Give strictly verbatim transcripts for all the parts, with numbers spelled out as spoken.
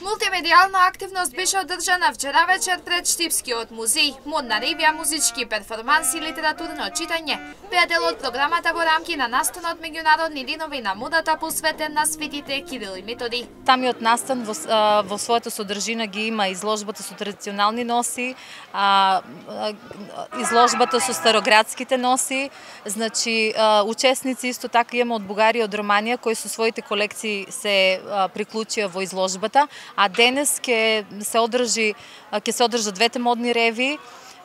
Мултимедијална активност беше одржана вчера вечер пред Штипскиот музеј. Модна ревија, музички перформанси и литературно читање беа дел од програмата во рамки на настанот Меѓународни денови на модата посветен на светите Кирил и Методи. Самиот настан во, во својата содржина ги има изложбата со традиционални носи, а, изложбата со староградските носи, значи учесници исто така имаме од Бугарија, од Романија кои со своите колекции се приклучија во изложбата, а денес ќе се одржи ќе се одржат двете модни реви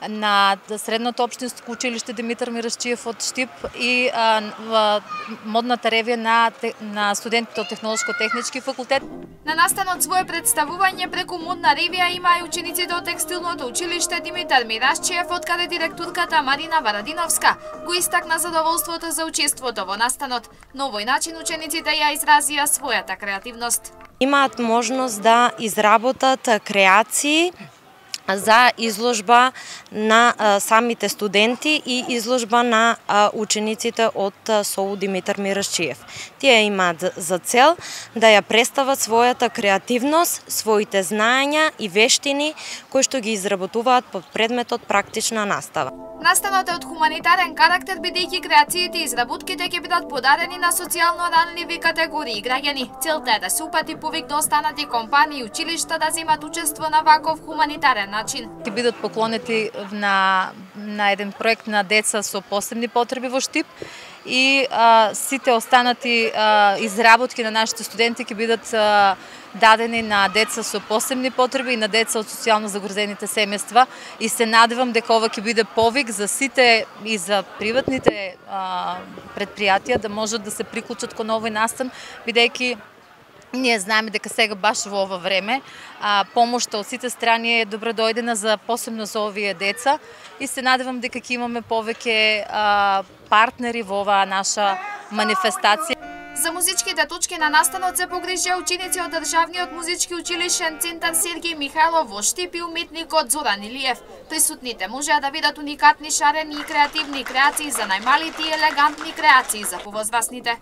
на Средното општинско училиште Димитар Мирашчиев од Штип и а, модната ревија на, на студентите од Технолошко-технички факултет. На настанот свое представување преку модна ревија има и учениците од Текстилното училиште Димитар Мирашчиев, од каде директорката Марина Варадиновска го истакна задоволството за учеството во настанот. На овој начин учениците ја изразија својата креативност. Имаат можност да изработат креации за изложба на а, самите студенти и изложба на а, учениците од СОУ Димитар Мирашчиев. Тие имаат за цел да ја представат својата креативност, своите знаења и вештини кои што ги изработуваат под предметот практична настава. Настанот е од хуманитарен карактер, бидејќи креациите и изработките ќе бидат подарени на социјално ранливи категории граѓани. Целта е да се упати повик до останати компании и училишта да земат учество на ваков хуманитарен начин. Ќе бидат поклонети на, на еден проект на деца со посебни потреби во Штип и а, сите останати а, изработки на нашите студенти ќе бидат а, дадени на деца со посебни потреби и на деца од социјално загрозените семејства и се надевам дека ова ќе биде повик за сите и за приватните а, предпријатија да можат да се приклучат кон овој настан, бидејќи ние знаеме дека сега баш во ова време а, помошта од сите страни е добродојдена за посебно за овие деца и се надевам дека ќе имаме повеќе а, партнери во оваа наша манифестација. За музичките точки на настанот се погрижија ученици од Државниот музички училишен центар Сергеј Михајлов во Штип и уметникот Зоран Илиев. Присутните можеа да видат уникатни, шарени и креативни креации за најмалите и елегантни креации за повозрасните.